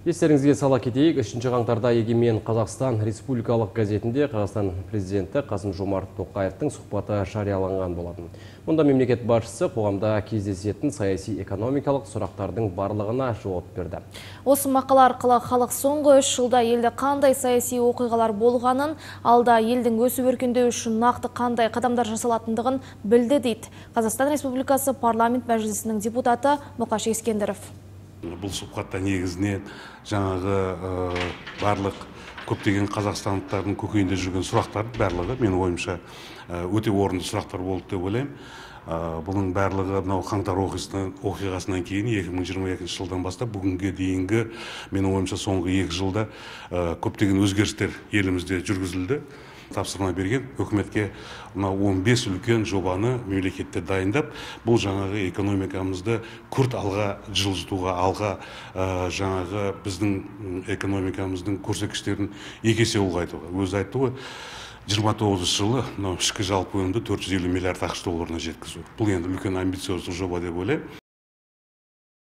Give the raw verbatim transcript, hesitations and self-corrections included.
Естеріңізге сала кетейік, үшінші қаңтарда Егемен Қазақстан Республикалық газетінде Қазақстан президенті Қасым-Жомарт Тоқаевтың сұхбаты жарияланған болатын. Мұнда мемлекет басшысы қоғамда кездесетін саяси экономикалық сұрақтардың барлығына жауап берді. Осы мақала арқылы халық соңғы үш жылда елде қандай саяси оқиғалар болғанын, алда елдің өсіп өркендеуі үшін нақты қандай қадамдар жасалатындығын білді дейді Қазақстан Республикасы парламент мәжілісінің депутаты Мұқаш Ескендіров. Бұл сұхбатта негізінен жаңағы барлық көптеген қазақстандықтардың көкейінде жүрген сұрақтар барлығы менің ойымша өте орынды сұрақтар болды деп ойлаймын. Бұның барлығы мынау қаңтар оқиғасынан кейін екі мың жиырма екінші жылдан бастап бүгінге дейінгі менің ойымша соңғы екі жылда көптеген өзгерістер елімізде жүргізілді. Тапсырма берген үкіметке мынау он бес үлкен жобаны мемлекетте дайындап, бұл жаңағы экономикамызды күрт алға жылжытуға, алға жаңағы біздің экономикамыздың көрсеткіштерін екі есе ұлғайтуға. Өзі айтты ғой, жиырма тоғызыншы жылы мынау ішкі жалпы өнімді төрт жүз елу миллиард ақш долларына жеткізу. Бұл енді үлкен амбициозды жоба деп ойлаймын.